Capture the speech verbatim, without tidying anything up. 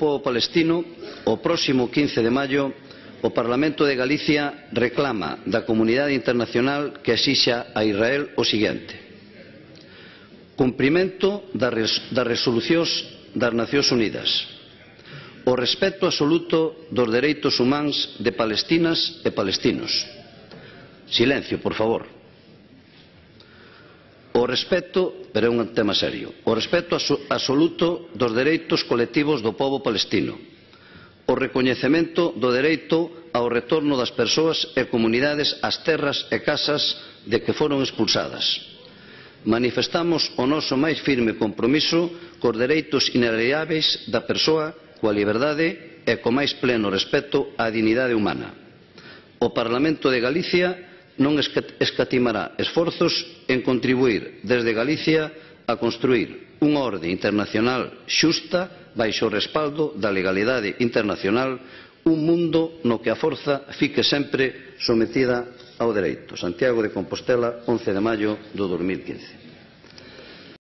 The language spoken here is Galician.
pobo palestino, o próximo quince de maio, o Parlamento de Galicia reclama da comunidade internacional que exixa a Israel o seguinte: cumprimento das resolucións das Nacións Unidas, o respecto absoluto dos dereitos humanos de palestinas e palestinos. Silencio, por favor. O respecto, pero é un tema serio, o respecto absoluto dos dereitos colectivos do pobo palestino, o recoñecemento do dereito ao retorno das persoas e comunidades ás terras e casas de que foron expulsadas. Manifestamos o noso máis firme compromiso cos dereitos inalienáveis da persoa, coa liberdade e co máis pleno respecto á dignidade humana. O Parlamento de Galicia non escatimará esforzos en contribuír desde Galicia a construír unha orde internacional xusta baixo o respaldo da legalidade internacional, un mundo no que a forza fique sempre sometida ao dereito. Santiago de Compostela, once de maio do dos mil quince.